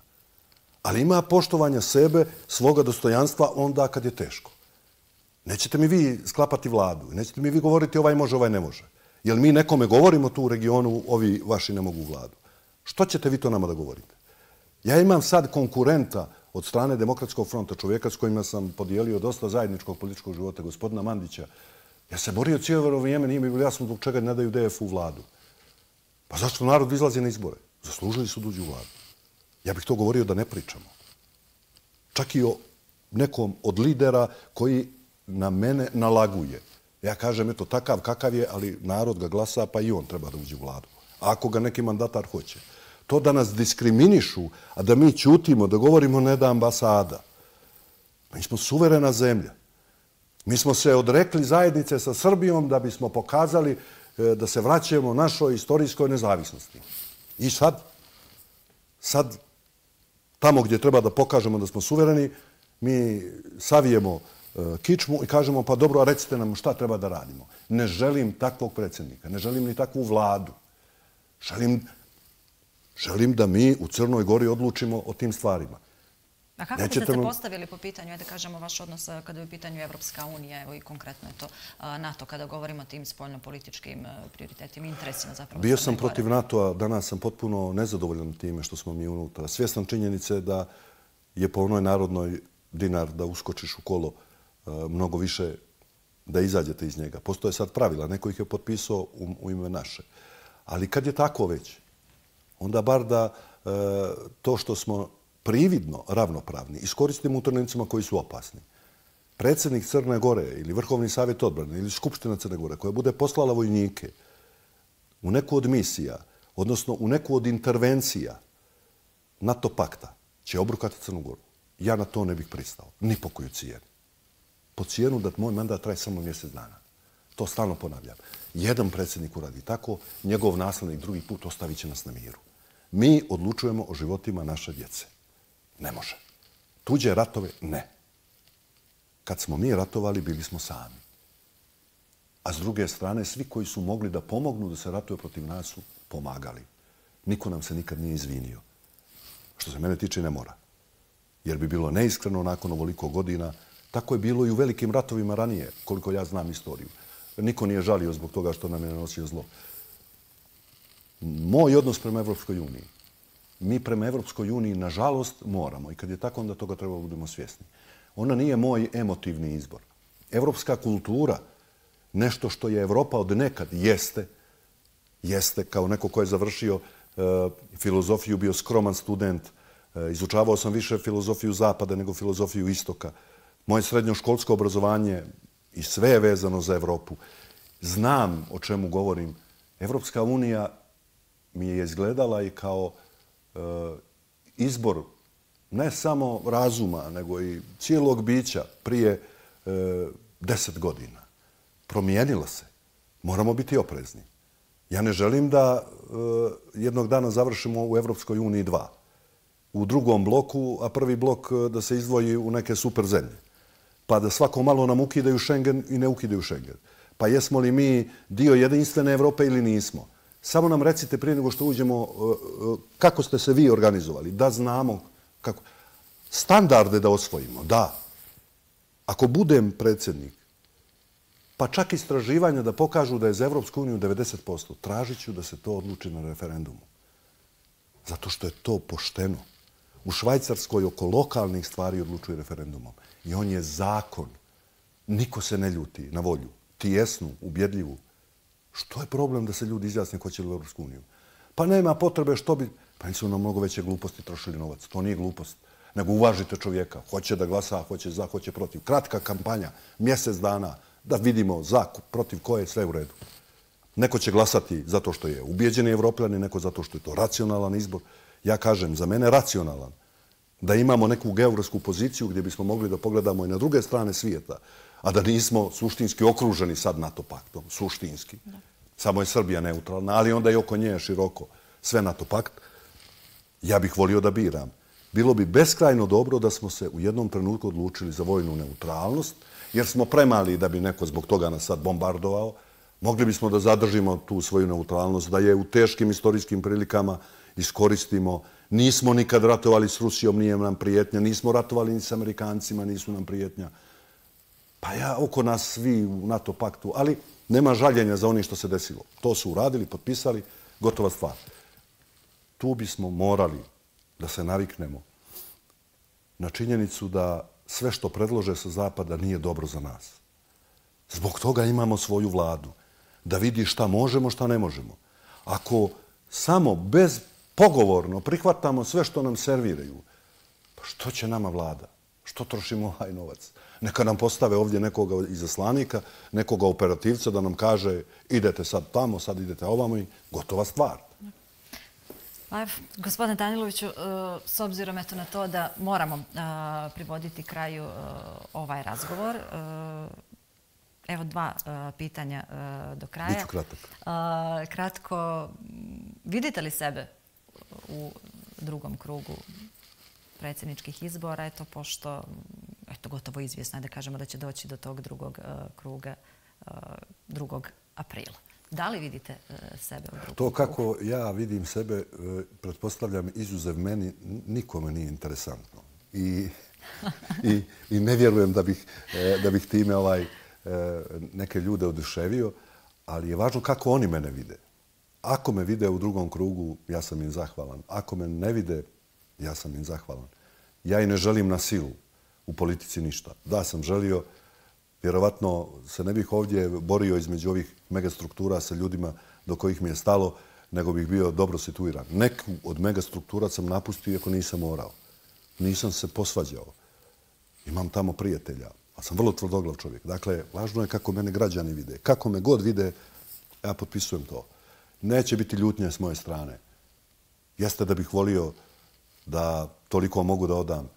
Ali ima poštovanja sebe, svoga dostojanstva onda kad je teško. Nećete mi vi sklapati vladu, nećete mi vi govoriti ovaj može, ovaj ne može. Jer mi nekome govorimo tu u regionu, ovi vaši ne mogu vladu. Što ćete vi to nama da govorite? Ja imam sad konkurenta od strane Demokratskog fronta, čovjeka s kojima sam podijelio dosta zajedničkog političkog života, gospodina Mandića. Ja se borio cijelo vrijeme, nije mi bilo jasno zbog čega ne daju DF-u vladu. Pa zašto narod izlazi na izbore? Zaslužili su da uđu u vladu. Ja bih to govorio da ne pričamo. Čak i o nekom od lidera koji na mene nalaguje. Ja kažem, eto, takav kakav je, ali narod ga glasa, pa i on treba da uđe u vladu. Ako ga neki mandatar hoće. To da nas diskriminišu, a da mi ćutimo, da govorimo ne da ambasada. Mi smo suverena zemlja. Mi smo se odrekli zajednice sa Srbijom da bismo pokazali da se vraćamo našoj istorijskoj nezavisnosti. I sad, tamo gdje treba da pokažemo da smo suvereni, mi savijemo kičmu i kažemo, pa dobro, a recite nam šta treba da radimo. Ne želim takvog predsjednika, ne želim ni takvu vladu. Želim da mi u Crnoj Gori odlučimo o tim stvarima. A kako biste se postavili po pitanju, da kažemo, vaš odnos kada je u pitanju Evropska unija, evo i konkretno je to NATO, kada govorimo o tim spoljno-političkim prioritetima, interesima zapravo? Bio sam protiv NATO-a, danas sam potpuno nezadovoljan time što smo mi unutra. Svjestan činjenice da je po onoj narodnoj dinar da uskočiš u kolo mnogo više da izađete iz njega. Postoje sad pravila, neko ih je potpisao u ime naše. Ali kad je tako već, onda bar da to što smo prividno ravnopravni iskoristimo u trenucima koji su opasni. Predsjednik Crne Gore ili Vrhovni savjet odbrane ili Skupština Crne Gore koja bude poslala vojnike u neku od misija, odnosno u neku od intervencija NATO pakta, će obrukati Crnu Goru. Ja na to ne bih pristao. Ni po koju cijenu. Po cijenu da moj mandat traje samo mjesec dana. To stalno ponavljam. Jedan predsjednik uradi tako, njegov naslednik drugi put ostavit će nas na miru. Mi odlučujemo o životima naše djece. Ne može. Tuđe ratove ne. Kad smo mi ratovali, bili smo sami. a s druge strane svi koji su mogli da pomognu da se ratuje protiv nas su pomagali. Niko nam se nikad nije izvinio. Što se mene tiče, ne mora. Jer bi bilo neiskreno nakon ovoliko godina. Tako je bilo i u velikim ratovima ranije, koliko ja znam istoriju. Niko nije žalio zbog toga što nam je nanosio zlo. Moj odnos prema Evropskoj uniji. Mi prema Evropskoj uniji, nažalost, moramo. I kad je tako, onda toga treba budemo svjesni. Ona nije moj emotivni izbor. Evropska kultura, nešto što je Evropa od nekad, jeste, kao neko ko je završio filozofiju, bio skroman student, izučavao sam više filozofiju Zapada nego filozofiju Istoka. Moje srednjoškolsko obrazovanje i sve je vezano za Evropu. Znam o čemu govorim. Evropska unija mi je izgledala i kao izbor ne samo razuma, nego i cijelog bića prije 10 godina. Promijenila se. Moramo biti oprezni. Ja ne želim da jednog dana završimo u Evropskoj uniji 2. U drugom bloku, a prvi blok da se izdvoji u neke super zemlje. Pa da svako malo nam ukidaju Schengen i ne ukidaju Schengen. Pa jesmo li mi dio jedinstvene Evrope ili nismo? Samo nam recite prije nego što uđemo kako ste se vi organizovali, da znamo kako. Standarde da osvojimo, da. Ako budem predsjednik, pa čak istraživanja da pokažu da je za Evropsku uniju 90%, tražit ću da se to odluči na referendumu. Zato što je to pošteno. U Švajcarskoj oko lokalnih stvari odlučuje referendumom. I on je zakon. Niko se ne ljuti na volju. Tijesnu, ubjedljivu. Što je problem da se ljudi izjasne hoće li u Evropsku uniju? Pa nema potrebe što bi... Pa nisu na mnogo veće gluposti trošili novac. To nije glupost. Nego uvažite čovjeka. Hoće da glasa, hoće za, hoće protiv. Kratka kampanja, mjesec dana, da vidimo za, protiv koje je sve u redu. Neko će glasati zato što je ubijeđeni Evropljani, neko zato što je to racionalan izbor. Ja kažem, za mene racionalan. Da imamo neku geografsku poziciju gdje bismo mogli da pogledamo i na druge strane svijeta, a da nismo suštinski okruženi sad NATO paktom. Suštinski. Samo je Srbija neutralna, ali onda i oko nje široko sve NATO pakt. Ja bih volio da biram. Bilo bi beskrajno dobro da smo se u jednom trenutku odlučili za vojnu neutralnost, jer smo premali da bi neko zbog toga nas sad bombardovao. Mogli bismo da zadržimo tu svoju neutralnost, da je u teškim istorijskim prilikama iskoristimo. Nismo nikad ratovali s Rusijom, nije nam prijetnja. Nismo ratovali ni s Amerikancima, nisu nam prijetnja. Pa ja, oko nas svi u NATO paktu, ali nema žaljenja za onim što se desilo. To su uradili, potpisali, gotova stvar. Tu bismo morali da se naviknemo na činjenicu da sve što predlože sa Zapada nije dobro za nas. Zbog toga imamo svoju vladu. Da vidi šta možemo, šta ne možemo. Ako samo bezpogovorno prihvatamo sve što nam serviraju, pa što će nama vlada? Što trošimo ovaj novac? Neka nam postave ovdje nekoga izaslanika, nekoga operativca da nam kaže idete sad tamo, sad idete ovamo i gotova stvar. Gospodine Daniloviću, s obzirom na to da moramo privoditi kraju ovaj razgovor, evo 2 pitanja do kraja. Biću kratak. Kratko, vidite li sebe u drugom krugu predsjedničkih izbora, pošto gotovo izvjesno je da kažemo da će doći do tog drugog kruga 2. aprila. Da li vidite sebe u drugom krugu? To kako ja vidim sebe, pretpostavljam, izuzev meni, nikome nije interesantno. I ne vjerujem da bih time neke ljude oduševio, ali je važno kako oni mene vide. Ako me vide u drugom krugu, ja sam im zahvalan. Ako me ne vide, ja sam im zahvalan. Ja i ne želim na silu u politici ništa. Da sam želio, vjerovatno se ne bih ovdje borio između ovih megastruktura sa ljudima do kojih mi je stalo, nego bih bio dobro situiran. Neku od megastruktura sam napustio iako nisam morao. Nisam se posvađao. Imam tamo prijatelja, ali sam vrlo tvrdoglav čovjek. Dakle, važno je kako mene građani vide. Kako me god vide, ja potpisujem to. Neće biti ljutnje s moje strane. Jeste da bih volio da toliko mogu da odam,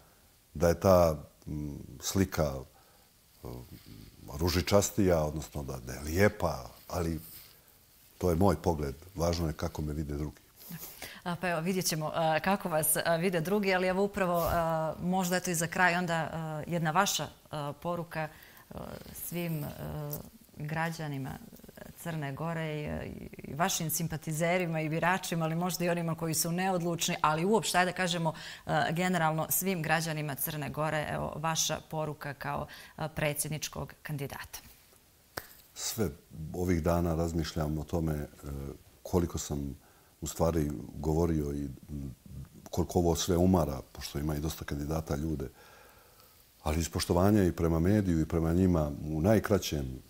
da je ta slika ružičastija, odnosno da je lijepa, ali to je moj pogled. Važno je kako me vide drugi. Pa evo, vidjet ćemo kako vas vide drugi, ali evo upravo možda i za kraj onda jedna vaša poruka svim građanima Crne Gore i vašim simpatizerima i biračima, ali možda i onima koji su neodlučni, ali uopšte, da kažemo, generalno svim građanima Crne Gore, evo, vaša poruka kao predsjedničkog kandidata. Sve ovih dana razmišljam o tome koliko sam u stvari govorio i koliko ovo sve umara, pošto ima i dosta kandidata ljude, ali iz poštovanja i prema mediju i prema njima u najkraćem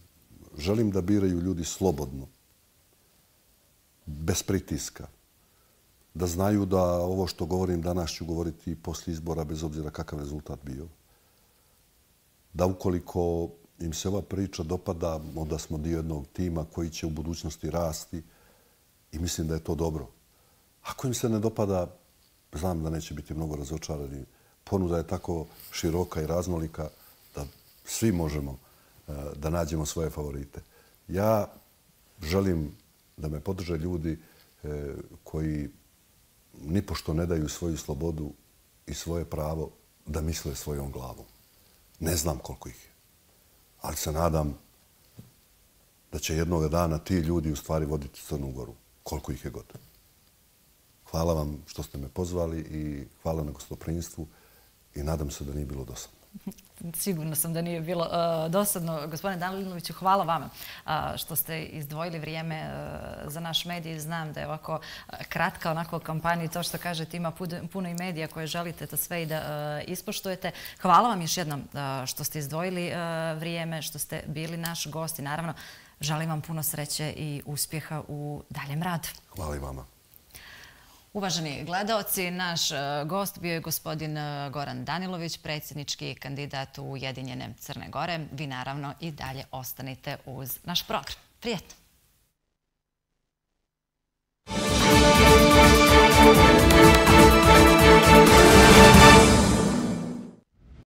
želim da biraju ljudi slobodno, bez pritiska, da znaju da ovo što govorim danas ću govoriti i poslije izbora bez obzira kakav rezultat bio. Da ukoliko im se ova priča dopada, onda smo dio jednog tima koji će u budućnosti rasti i mislim da je to dobro. Ako im se ne dopada, znam da neće biti mnogo razočarani. Ponuda je tako široka i raznolika da svi možemo da nađemo svoje favorite. Ja želim da me podrže ljudi koji nipošto ne daju svoju slobodu i svoje pravo da misle svojom glavom. Ne znam koliko ih je, ali se nadam da će jednog dana ti ljudi u stvari voditi Crnu Goru, koliko ih je god. Hvala vam što ste me pozvali i hvala na gostoprinstvu i nadam se da nije bilo dosadno. Sigurno sam da nije bilo dosadno. Gospodine Daniloviću, hvala vama što ste izdvojili vrijeme za naš medij. Znam da je ovako kratka onako kampanja i to što kažete ima puno i medija koje želite to sve i da ispoštujete. Hvala vam još jednom što ste izdvojili vrijeme, što ste bili naš gost i naravno želim vam puno sreće i uspjeha u daljem radu. Hvala i vama. Uvaženi gledaoci, naš gost bio je gospodin Goran Danilović, predsjednički kandidat Ujedinjene Crne Gore. Vi naravno i dalje ostanite uz naš program. Prijetno!